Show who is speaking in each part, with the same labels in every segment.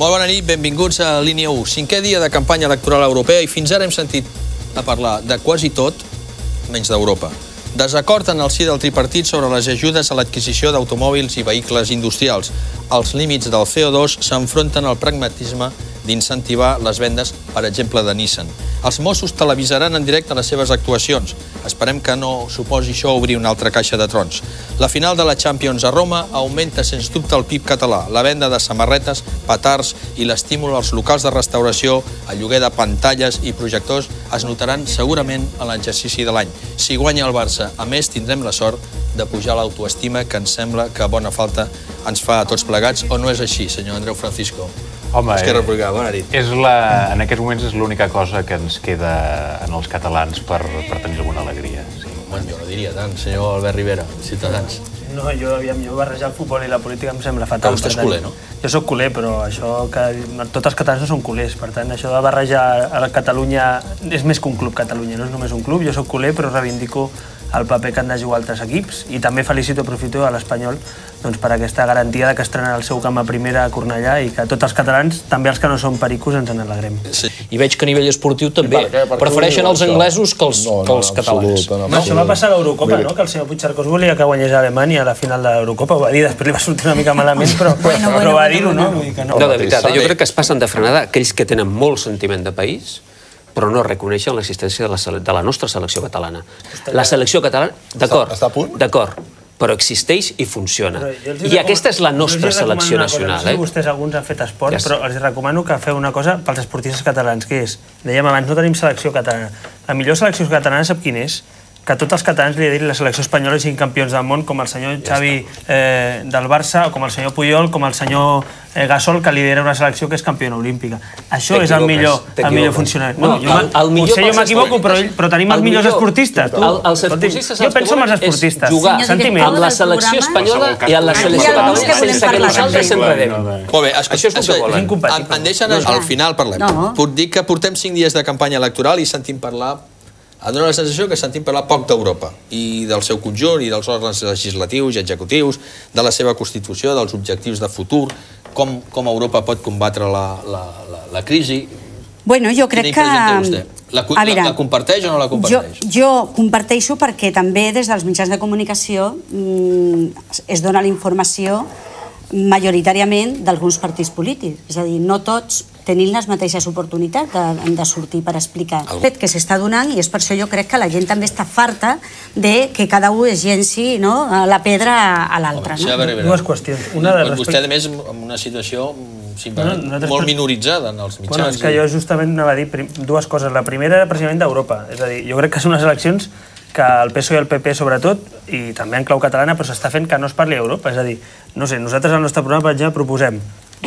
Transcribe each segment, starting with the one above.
Speaker 1: Molt bona nit, benvinguts a Línia 1. 5è dia de campanya electoral europea i fins ara hem sentit a parlar de quasi tot, menys d'Europa. Desacord en el si del tripartit sobre les ajudes a l'adquisició d'automòbils i vehicles industrials. Els límits del CO2 s'enfronten al pragmatisme d'incentivar les vendes, per exemple, de Nissan. Els Mossos televisaran en directe les seves actuacions. Esperem que no suposi això obrir una altra caixa de trons. La final de la Champions a Roma augmenta sens dubte el PIB català. La venda de samarretes, petards i l'estímul als locals de restauració, el lloguer de pantalles i projectors es notaran segurament en l'exercici de l'any. Si guanya el Barça, a més, tindrem la sort de pujar l'autoestima que ens sembla que bona falta ens fa a tots plegats, o no és així, senyor Andreu Francisco?
Speaker 2: Home,
Speaker 1: Esquerra Republicana, bona nit.
Speaker 2: en aquests moments és l'única cosa que ens queda en els catalans per tenir alguna alegria.
Speaker 1: Bueno, jo no diria tant, senyor Albert Rivera, Ciutadans.
Speaker 3: No, jo barrejar el futbol i la política em sembla fatal.
Speaker 1: Vostè és culer, no?
Speaker 3: Jo soc culer, però això que tots els catalans no són culers. Per tant, això de barrejar a Catalunya és més que un club, Catalunya, no és només un club. Jo soc culer, però reivindico el paper que han de jugar altres equips i també aprofito a l'Espanyol per aquesta garantia de que estrenarà el seu camp a primera a Cornellà i que tots els catalans, també els que no són pericos, ens n'alegrem.
Speaker 4: I veig que a nivell esportiu també prefereixen els anglesos que els catalans.
Speaker 3: Això va passar a l'Eurocopa, no? Que el senyor Puigcercós volia que guanyés Alemanya a la final de l'Eurocopa, ho va dir, després li va sortir una mica malament, però va dir-ho, no?
Speaker 4: No, de veritat, jo crec que es passen de frenada aquells que tenen molt sentiment de país, però no reconeixen l'existència de la nostra selecció catalana. La selecció catalana, d'acord, però existeix i funciona. I aquesta és la nostra selecció nacional.
Speaker 3: No sé si vostès alguns han fet esport, però els recomano que feu una cosa pels esportistes catalans, que és, dèiem abans, no tenim selecció catalana. La millor selecció catalana sap quin és? Que tots els catalans li diguin la selecció espanyola siguin campions del món, com el senyor Xavi del Barça, o com el senyor Puyol, com el senyor Gasol, que lidera una selecció que és campiona olímpica. Això és el millor funcionari. Potser jo m'equivoco, però tenim els millors esportistes. Jo penso en els esportistes.
Speaker 4: Jugar amb la selecció espanyola i amb la selecció catalana sense que nosaltres s'enredem.
Speaker 1: Molt bé, això és el que volen. Em deixen al final parlem. Puc dir que portem 5 dies de campanya electoral i sentim parlar. Em dóna la sensació que sentim parlar poc d'Europa i del seu conjunt i dels òrgans legislatius i executius, de la seva constitució, dels objectius de futur, com Europa pot combatre la crisi.
Speaker 5: Bueno, jo crec que...
Speaker 1: La comparteix o no la comparteix?
Speaker 5: Jo comparteixo perquè també des dels mitjans de comunicació es dona la informació majoritàriament d'alguns partits polítics. És a dir, no tots tenim les mateixes oportunitats de sortir per explicar. El fet que s'està donant, i és per això jo crec que la gent també està farta de que cada un es llenci la pedra a l'altre.
Speaker 3: Dues qüestions.
Speaker 1: Vostè, a més, en una situació molt minoritzada en els mitjans.
Speaker 3: És que jo justament anava a dir dues coses. La primera era precisament d'Europa. És a dir, jo crec que són unes eleccions que el PSOE i el PP, sobretot, i també en clau catalana, però s'està fent que no es parli d'Europa. És a dir, no sé, nosaltres al nostre programa, per exemple, proposem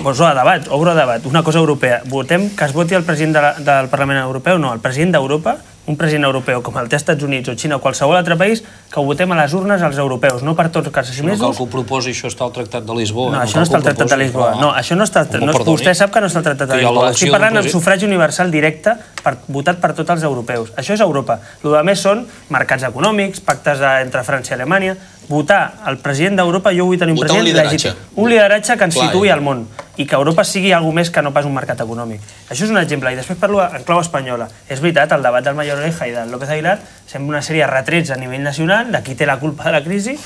Speaker 3: obro a debat, una cosa europea. Votem que es voti el president del Parlament Europeu? No, el president d'Europa, un president europeu com el té als Estats Units o Xina o qualsevol altre país, que ho votem a les urnes als europeus, no per tots els 6 mesos.
Speaker 4: No cal que ho proposi, això està al Tractat de Lisboa.
Speaker 3: No, això no està al Tractat de Lisboa. No, això no està... Vostè sap que no està al Tractat de Lisboa. Estic parlant amb sufragi universal directe votat per tots els europeus. Això és Europa. El que més són mercats econòmics, pactes entre França i Alemanya. Votar el president d'Europa, jo vull tenir un president legítim. Un lideratge que ens situï al món i que Europa sigui alguna més que no pas un mercat econòmic. Això és un exemple. I després parlo en clau espanyola. És veritat, el debat del Mayor Oreja i del López Aguilar sembla una sèrie de retrets a nivell nacional de qui té la culpa de la crisi.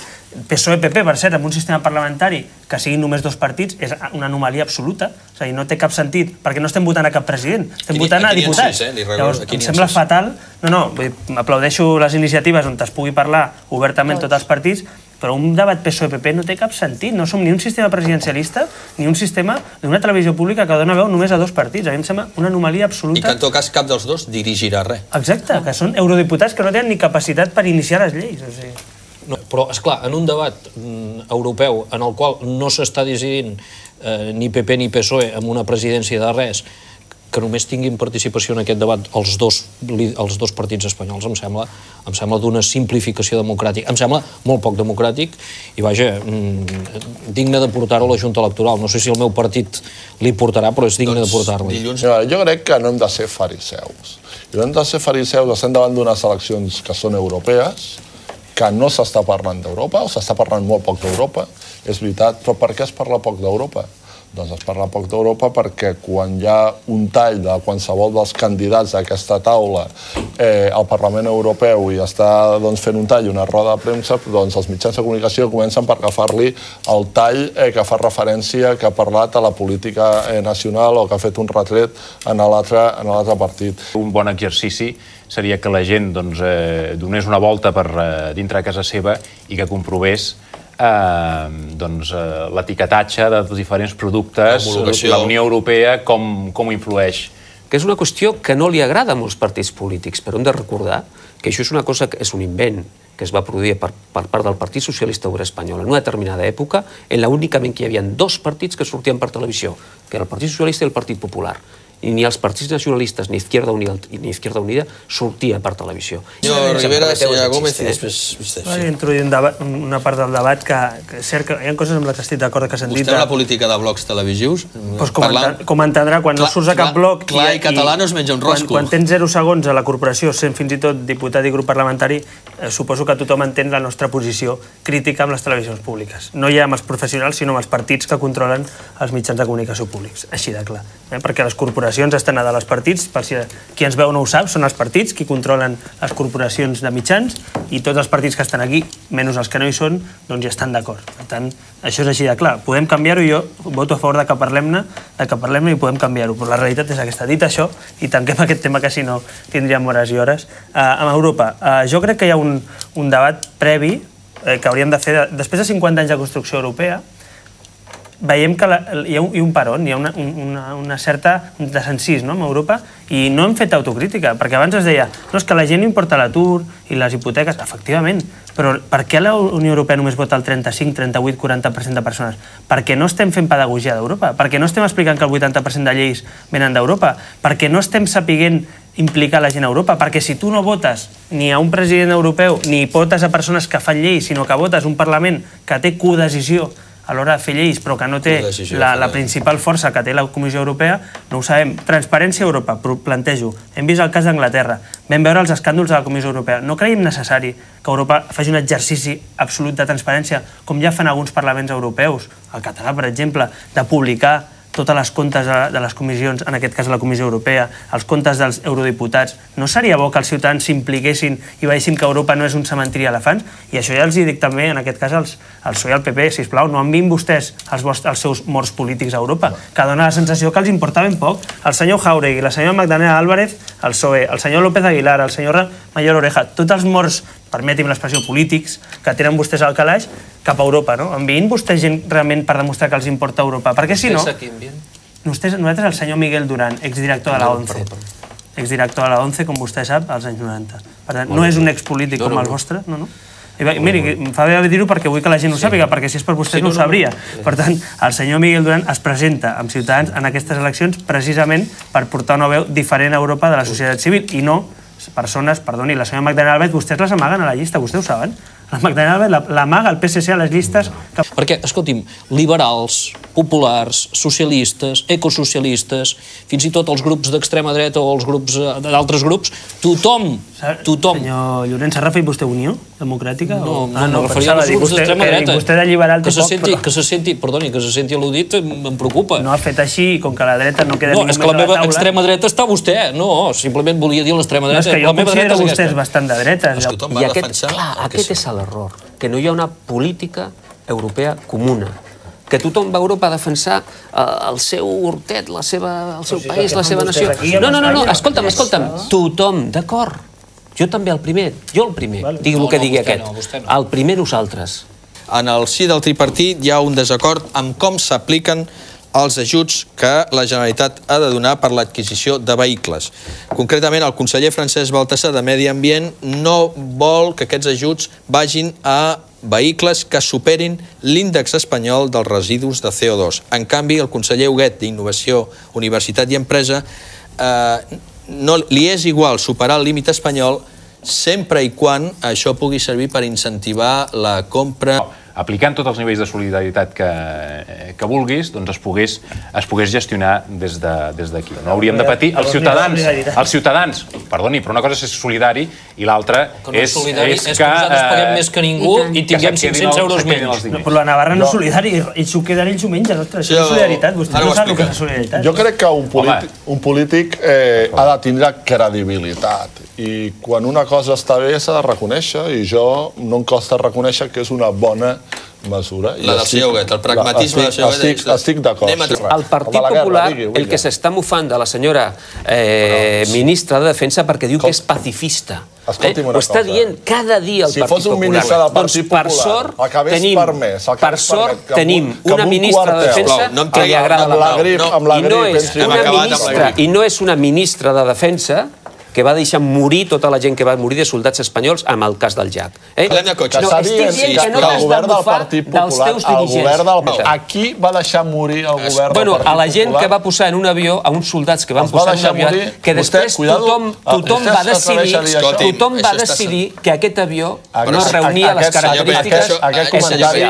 Speaker 3: PSOE-PP, per cert, amb un sistema parlamentari que siguin només 2 partits, és una anomalia absoluta. És a dir, no té cap sentit, perquè no estem votant a cap president, estem votant a diputats. Llavors, em sembla fatal. No, aplaudeixo les iniciatives on es pugui parlar obertament tots els partits, però un debat PSOE-PP no té cap sentit. No som ni un sistema presidencialista ni un sistema d'una televisió pública que dona veu només a 2 partits. A mi em sembla una anomalia absoluta.
Speaker 1: I que en tot cas cap dels 2 dirigirà res.
Speaker 3: Exacte, que són eurodiputats que no tenen ni capacitat per iniciar les lleis.
Speaker 4: Però, esclar, en un debat europeu en el qual no s'està decidint ni PP ni PSOE amb una presidència de res, que només tinguin participació en aquest debat els dos partits espanyols, em sembla d'una simplificació democràtica. Em sembla molt poc democràtic i, vaja, digne de portar-ho a la Junta Electoral. No sé si el meu partit li portarà, però és digne de portar-lo.
Speaker 6: Jo crec que no hem de ser fariseus. I no hem de ser fariseus, estem davant d'unes eleccions que són europees, que no s'està parlant d'Europa, o s'està parlant molt poc d'Europa, és veritat, però per què es parla poc d'Europa? Doncs es parla poc d'Europa perquè quan hi ha un tall de qualsevol dels candidats d'aquesta taula al Parlament Europeu i està fent un tall i una roda de premsa, doncs els mitjans de comunicació comencen per agafar-li el tall que fa referència, que ha parlat a la política nacional o que ha fet un retret en l'altre partit.
Speaker 2: Un bon exercici seria que la gent donés una volta per dintre de casa seva i que comprovés l'etiquetatge dels diferents productes, la Unió Europea, com influeix.
Speaker 7: Que és una qüestió que no li agrada a molts partits polítics, però hem de recordar que això és una cosa que és un invent que es va produir per part del Partit Socialista Obrer Espanyol en una determinada època, en la únicament que hi havia dos partits que sortien per televisió, que era el Partit Socialista i el Partit Popular. I ni els partits nacionalistes ni Izquierda Unida sortia per televisió.
Speaker 1: Senyor Rivera, senyora Gómez i després vostè.
Speaker 3: He introduït una part del debat que és cert que hi ha coses amb les que estic d'acord que s'han dit.
Speaker 1: Vostè en la política de blocs televisius?
Speaker 3: Com entendrà, quan no surts a cap bloc...
Speaker 1: Clar i català no es menja un rosco.
Speaker 3: Quan tens 0 segons a la corporació, sent fins i tot diputat i grup parlamentari, suposo que tothom entén la nostra posició crítica amb les televisions públiques. No ja amb els professionals, sinó amb els partits que controlen els mitjans de comunicació públics. Així de clar. Perquè les corporacions estan a dalt dels partits, per si qui ens veu no ho sap, són els partits qui controlen les corporacions de mitjans i tots els partits que estan aquí, menys els que no hi són, doncs ja estan d'acord. Per tant, això és així de clar. Podem canviar-ho i jo voto a favor de que parlem-ne i podem canviar-ho, però la realitat és aquesta. Dit això, i tanquem aquest tema que si no tindríem hores i hores, amb Europa. Jo crec que hi ha un debat previ que hauríem de fer, després de 50 anys de construcció europea, veiem que hi ha un peron, hi ha una certa desencís en Europa i no hem fet autocrítica, perquè abans es deia no, és que la gent importa l'atur i les hipoteques, efectivament, però per què la Unió Europea només vota el 35, 38, 40% de persones? Perquè no estem fent pedagogia d'Europa, perquè no estem explicant que el 80% de lleis venen d'Europa, perquè no estem sapiguent implicar la gent a Europa, perquè si tu no votes ni a un president europeu ni votes a persones que fan lleis, sinó que votes un Parlament que té codecisió a l'hora de fer lleis, però que no té la principal força que té la Comissió Europea, no ho sabem. Transparència a Europa, plantejo. Hem vist el cas d'Anglaterra, vam veure els escàndols de la Comissió Europea. No creiem necessari que Europa faci un exercici absolut de transparència, com ja fan alguns parlaments europeus, el català, per exemple, de publicar totes les comptes de les comissions, en aquest cas la Comissió Europea, els comptes dels eurodiputats. No seria bo que els ciutadans s'impliquessin i veiessin que Europa no és un cementiri d'elefants? I això ja els dic també, en aquest cas, al PSOE i al PP, sisplau, no enviïn vostès els seus morts polítics a Europa, que dona la sensació que els importa ben poc. El senyor Jáuregui, la senyora Magdalena Álvarez, el PSOE, el senyor López Aguilar, el senyor Mayor Oreja, tots els morts, permeti'm l'expressió, polítics, que tenen vostès al calaix cap a Europa, no? Enviïn vostès gent realment per demostrar que els importa Europa, perquè si no... Nosaltres el senyor Miguel Duran, exdirector de la ONCE. Exdirector de la ONCE, com vostè sap, als anys 90. Per tant, no és un expolític com el vostre, no. Miri, em fa bé dir-ho perquè vull que la gent ho sàpiga, perquè si és per vostès no ho sabria. Per tant, el senyor Miguel Duran es presenta amb Ciutadans en aquestes eleccions precisament per portar una veu diferent a Europa de la societat civil i no persones, perdoni, la senyora Magdalena Álvarez, vostès les amaguen a la llista, vostès ho saben? La Magdalena Álvarez l'amaga el PSC a les llistes...
Speaker 4: Perquè, escolti'm, liberals, populars, socialistes, ecosocialistes, fins i tot els grups d'extrema dreta o els grups d'altres grups, tothom...
Speaker 3: Senyor Llorenç, s'ha referit vostè a Unió Democràtica?
Speaker 4: No, no referia als grups d'extrema dreta.
Speaker 3: Vostè de liberal té poc...
Speaker 4: Que se senti al·ludit em preocupa.
Speaker 3: No ha fet així, com que la dreta no queda
Speaker 4: ningú més a la taula... No, és que la meva extrema dreta està vostè. No, simplement volia dir l'extrema dreta.
Speaker 3: No, és que jo considero vostès bastant de dretes.
Speaker 7: I aquest és l'error, que no hi ha una política europea comuna, que tothom va a Europa a defensar el seu hortet, el seu país, la seva nació. No, escolta'm, tothom, d'acord. Jo també el primer, digui el que digui aquest. El primer nosaltres.
Speaker 1: En el si del tripartit hi ha un desacord amb com s'apliquen els ajuts que la Generalitat ha de donar per l'adquisició de vehicles. Concretament, el conseller Francesc Baltasar de Medi Ambient no vol que aquests ajuts vagin a vehicles que superin l'índex espanyol dels residus de CO2. En canvi, el conseller Huguet d'Innovació, Universitat i Empresa no li és igual superar el límit espanyol sempre i quan això pugui servir per incentivar la compra.
Speaker 2: aplicant tots els nivells de solidaritat que vulguis, doncs es pogués gestionar des d'aquí. No hauríem de patir els ciutadans, perdoni, però una cosa és ser solidari i l'altra és que
Speaker 4: nosaltres paguem més que ningú i tinguem 500 euros menys.
Speaker 3: Però la Navarra no és solidari, i s'ho queden ells ho mengen, ostres, això és solidaritat, vostè no sap el que és solidaritat.
Speaker 6: Jo crec que un polític ha de tindre credibilitat i quan una cosa està bé s'ha de reconèixer i jo no em costa reconèixer que és una bona mesura.
Speaker 1: La del senyor Huguet, el pragmatisme del senyor Huguet.
Speaker 6: Estic d'acord.
Speaker 7: El Partit Popular, el que s'està mofant de la senyora ministra de Defensa perquè diu que és pacifista. Ho està dient cada dia el Partit Popular.
Speaker 6: Si fos un ministre del Partit Popular, acabés permès.
Speaker 7: Per sort tenim una ministra de Defensa que li agrada la pau. I no és una ministra de Defensa que va deixar morir tota la gent que va morir de soldats espanyols amb el cas del Jack.
Speaker 1: Parlem de cotxes.
Speaker 6: Estic dient que no t'has de bufar dels teus dirigents. A qui va deixar morir el govern del Partit Popular?
Speaker 7: A la gent que va posar en un avió, a uns soldats que van posar en un avió, que després tothom va decidir que aquest avió no reunia les característiques.
Speaker 6: Aquest comentari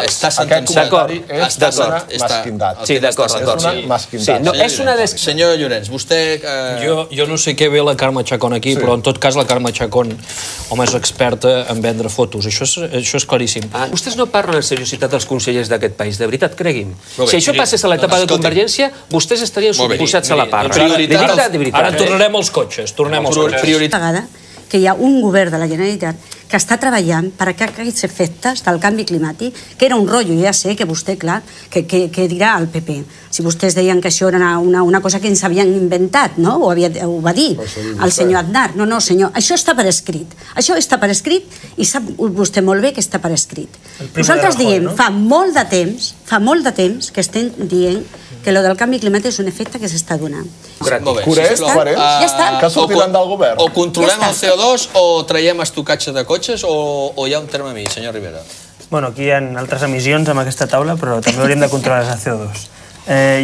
Speaker 6: és d'una mesquindat.
Speaker 7: Sí, d'acord.
Speaker 1: Senyor Llorenç, vostè...
Speaker 4: Jo no sé què ve la Carme Chacón aquí, però en tot cas la Carme Chacón, home, és experta en vendre fotos. Això és claríssim.
Speaker 7: Vostès no parlen en seriositat dels consellers d'aquest país, de veritat, creguin. Si això passés a l'etapa de Convergència, vostès estarien posats a la parra. De veritat.
Speaker 4: Ara tornarem als cotxes.
Speaker 5: Que hi ha un govern de la Generalitat que està treballant per aquests efectes del canvi climàtic, que era un rotllo, ja sé que vostè, clar, que dirà al PP. Si vostès deien que això era una cosa que ens havien inventat, no? Ho va dir el senyor Aznar. No, senyor, això està per escrit. Això està per escrit i sap vostè molt bé que està per escrit. Nosaltres diem, fa molt de temps que estem dient que el del canvi climàtic és un efecte que s'està donant.
Speaker 6: Coherents? Ja està. Que sortiran del govern.
Speaker 1: O controlem el CO2 o traiem estocatge de cotxes o hi ha un terme mig, senyor Rivera?
Speaker 3: Bueno, aquí hi ha altres emissions amb aquesta taula, però també hauríem de controlar el CO2.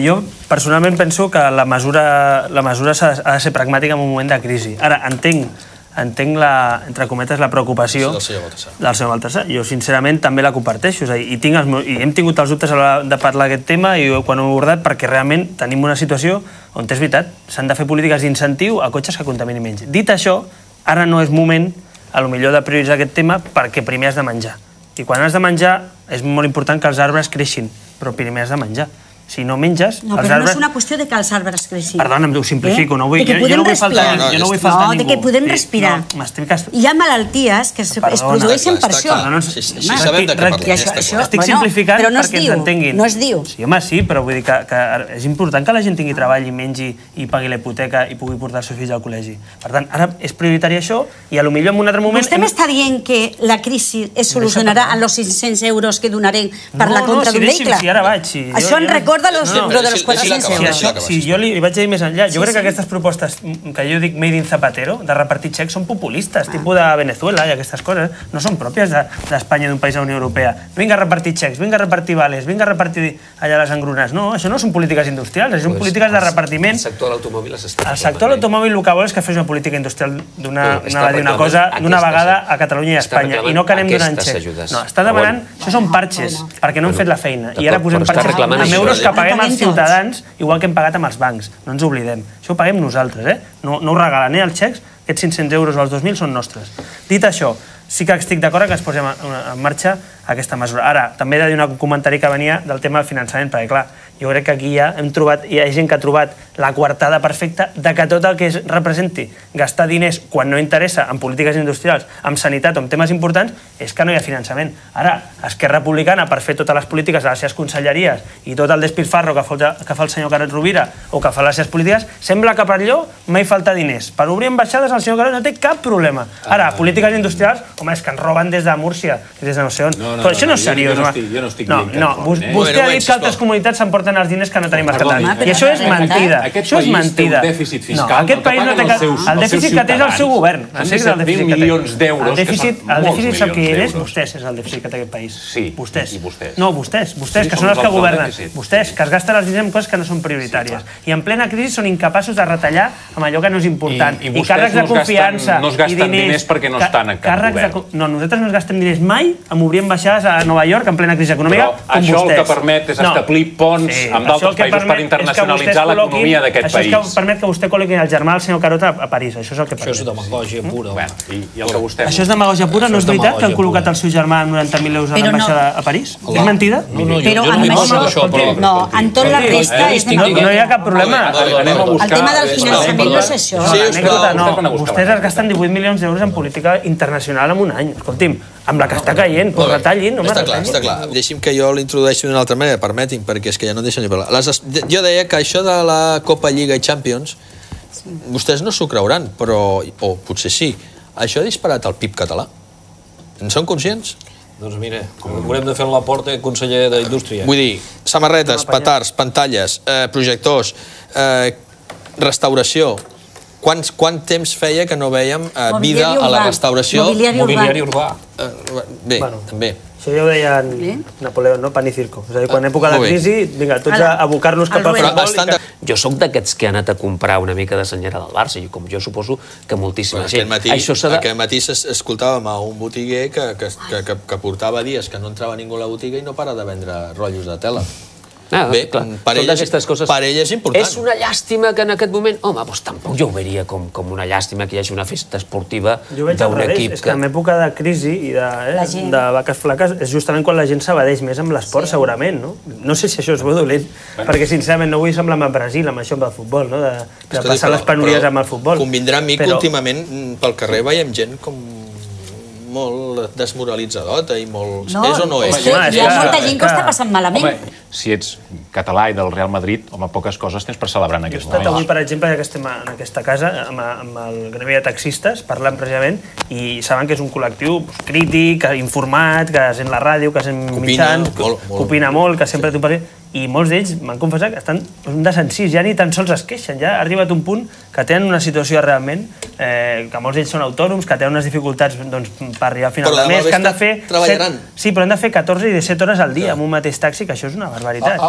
Speaker 3: Jo personalment penso que la mesura ha de ser pragmàtica en un moment de crisi. Ara, entenc entre cometes, la preocupació del senyor Baltasar. Jo, sincerament, també la comparteixo. I hem tingut els dubtes a l'hora de parlar d'aquest tema i quan ho he abordat perquè realment tenim una situació on és veritat, s'han de fer polítiques d'incentiu a cotxes que contaminin menys. Dit això, ara no és moment, potser de prioritzar aquest tema perquè primer has de menjar. I quan has de menjar és molt important que els arbres creixin, però primer has de menjar. Si no menges...
Speaker 5: No, però no és una qüestió de que els arbres creixin.
Speaker 3: Perdona, ho simplifico. Jo no vull faltar ningú.
Speaker 5: No, de que podem respirar. Hi ha malalties que es produeixen per això.
Speaker 1: Si sabem de què parlem.
Speaker 3: Estic simplificant perquè ens entenguin.
Speaker 5: No es diu.
Speaker 3: Sí, home, sí, però vull dir que és important que la gent tingui treball i mengi i pagui la hipoteca i pugui portar els seus fills al col·legi. Per tant, ara és prioritari això i potser en un altre moment...
Speaker 5: Vostè m'està dient que la crisi es solucionarà amb els 500 euros que donarem per la compra d'un vehicle?
Speaker 3: Sí, ara vaig.
Speaker 5: Això en recorda de los 400 euros.
Speaker 3: Si jo li vaig dir més enllà, jo crec que aquestes propostes que jo dic made in Zapatero, de repartir xecs, són populistes, tipus de Venezuela i aquestes coses. No són pròpies d'Espanya, d'un país de la Unió Europea. Vinga a repartir xecs, vinga a repartir vales, vinga a repartir allà les engrunes. No, això no són polítiques industrials, són polítiques de repartiment.
Speaker 7: El sector de l'automòbil s'està...
Speaker 3: El sector de l'automòbil el que vol és que fes una política industrial d'una cosa d'una vegada a Catalunya i a Espanya. I no que anem donant xecs. No, està demanant... Això són parxes, perquè no hem fet la feina. I ara posem parxes amb euros que paguem als ciutadans, igual que hem pagat amb els bancs. No ens oblidem. Això ho paguem nosaltres, No ho regalen, els xecs, aquests 500 euros o els 2.000 són nostres. Dit això, sí que estic d'acord que es posem en marxa aquesta mesura. Ara, també he de dir un comentari que venia del tema del finançament, perquè clar, jo crec que aquí hi ha gent que ha trobat la coartada perfecta de que tot el que representi gastar diners quan no interessa en polítiques industrials, en sanitat o en temes importants, és que no hi ha finançament. Ara, Esquerra Republicana, per fer totes les polítiques de les seves conselleries i tot el despilfarro que fa el senyor Carod Rovira o que fa les seves polítiques, sembla que per allò mai falta diners. Per obrir ambaixades el senyor Carod no té cap problema. Ara, polítiques industrials, home, és que ens roben des de Múrcia, des de no sé on. Però això no és seriós.
Speaker 2: Jo no estic dient que...
Speaker 3: Vostè ha dit que altres comunitats s'emporten els diners que no tenim a Catalunya. I això és mentida. Això és mentida. No, aquest país no té... El dèficit que té és el seu govern.
Speaker 2: Han deixat 20 milions d'euros.
Speaker 3: El dèficit sap qui és? Vostès és el dèficit que té aquest país.
Speaker 2: Sí,
Speaker 3: vostès.
Speaker 2: I vostès.
Speaker 3: No, vostès, que són els que governen. Vostès, que es gasten els diners en coses que no són prioritàries. I en plena crisi són incapaços de retallar amb allò que no és important. I càrrecs de confiança
Speaker 2: no es gasten diners perquè no estan en cap govern.
Speaker 3: No, nosaltres no es gastem diners mai en obrir ambaixades ambaixades a Nova York en plena crisi econòmica, com vostès.
Speaker 2: Però això el que permet és establir ponts amb d'altres països per internacionalitzar l'economia d'aquest país.
Speaker 3: Això és que permet que vostè col·loqui el germà del senyor Carota a París. Això és el que permet.
Speaker 4: Això és demagògia pura.
Speaker 2: I el que vostè...
Speaker 3: Això és demagògia pura? No és veritat que han col·locat el seu germà amb 90.000 euros a l'ambaixada a París? És mentida?
Speaker 5: Però en tot la resta és demagògia.
Speaker 3: No hi ha cap problema.
Speaker 5: El tema del finançament no és això.
Speaker 3: Vostès es gasten 18 milions d'euros en política internacional en un any. Escolti'm, amb la que està caient, doncs retallin, no me retallin.
Speaker 1: Està clar. Deixi'm que jo l'introdueixi d'una altra manera, permeti'm, perquè és que ja no em deixen ni parlar. Jo deia que això de la Copa, Lliga i Champions, vostès no s'ho creuran, però, o potser sí, això ha disparat el PIB català. En són conscients?
Speaker 4: Doncs mira, haurem de fer la porta conseller d'Indústria.
Speaker 1: Vull dir, samarretes, petards, pantalles, projectors, restauració. Quant temps feia que no vèiem vida a la restauració?
Speaker 4: Mobiliari urbà.
Speaker 1: Bé, també.
Speaker 3: Això ja ho deia Napoleó, no? Pan i circo. És a dir, quan època de crisi, vinga, tots a abocar-nos cap a futbol.
Speaker 7: Jo sóc d'aquests que han anat a comprar una mica de senyera del Barça, i com jo suposo que moltíssima gent.
Speaker 1: Aquest matí escoltàvem a un botiguer que portava dies que no entrava ningú a la botiga i no para de vendre rotllos de tela. Bé, per ell és important.
Speaker 7: És una llàstima que en aquest moment... Home, doncs tampoc jo ho veuria com una llàstima que hi hagi una festa esportiva d'un equip.
Speaker 3: Jo veig al revés, és que en època de crisi i de vaques flaques és justament quan la gent s'abadeix més amb l'esport, segurament, no? No sé si això és bo o dolent, perquè sincerament no vull semblar amb Brasil, amb això del futbol, no? De passar les penúries amb el futbol.
Speaker 1: Convindrà amb mi que últimament pel carrer veiem gent com molt desmoralitzadota i molt... És o no és?
Speaker 5: Hi ha molta gent que ho està passant malament.
Speaker 2: Home, si ets català i del Real Madrid, home, poques coses tens per celebrar en aquests moments.
Speaker 3: Jo he estat avui, per exemple, ja que estem en aquesta casa, amb el gremi de taxistes, parlant precisament, i saben que és un col·lectiu crític, informat, que sent la ràdio, que sent mitjans, que opina molt, que sempre té un paper... I molts d'ells m'han confessat que estan de sensís, ja ni tan sols es queixen, ja ha arribat un punt que tenen una situació realment, que molts d'ells són autònoms, que tenen unes dificultats per arribar a final de mes, que han de fer...
Speaker 1: Treballaran.
Speaker 3: Sí, però han de fer 14 i 17 hores al dia amb un mateix taxi, que això és una barbaritat.